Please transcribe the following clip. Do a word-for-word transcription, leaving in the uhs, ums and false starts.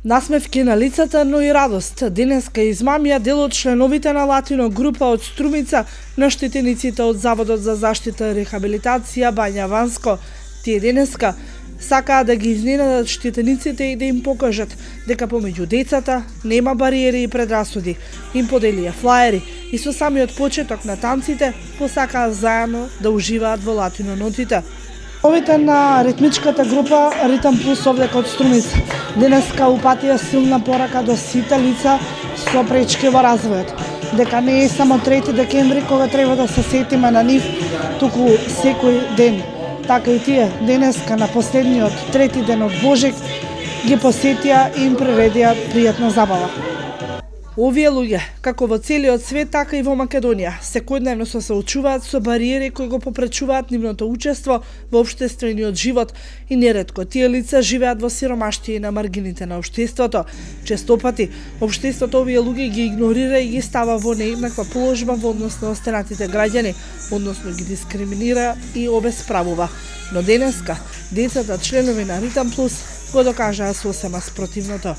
Насмевки на лицата, но и радост. Денеска измамија дел од членовите на Латино група од Струмица на штетениците од Заводот за заштита и рехабилитација Бања Ванско. Тие денеска сакаат да ги изненадат штетениците и да им покажат дека помеѓу децата нема бариери и предрасуди. Им поделија флаери и со самиот почеток на танците посакаа заедно да уживаат во Латино нотите. Овите на ритмичката група Ритам Плюс овде код Струмица денеска упатија силна порака до сите лица со пречки во развојот, дека не е само трети декември кога треба да се сетиме на нив, туку секој ден. Така и тие денеска на последниот трети ден од Божик ги посетија и им приредија пријатна забава. Овие луѓе, како во целиот свет, така и во Македонија, секојдневно се соочуваат со бариери кои го попречуваат нивното учество во општествениот живот и неретко тие лица живеат во сиромаштија и на маргините на општеството. Честопати, општеството овие луѓе ги игнорира и ги става во нееднаква положба во однос на останатите граѓани, односно ги дискриминира и обесправува. Но денеска, децата членови на Ритам Плюс го докажаа сосема спротивното.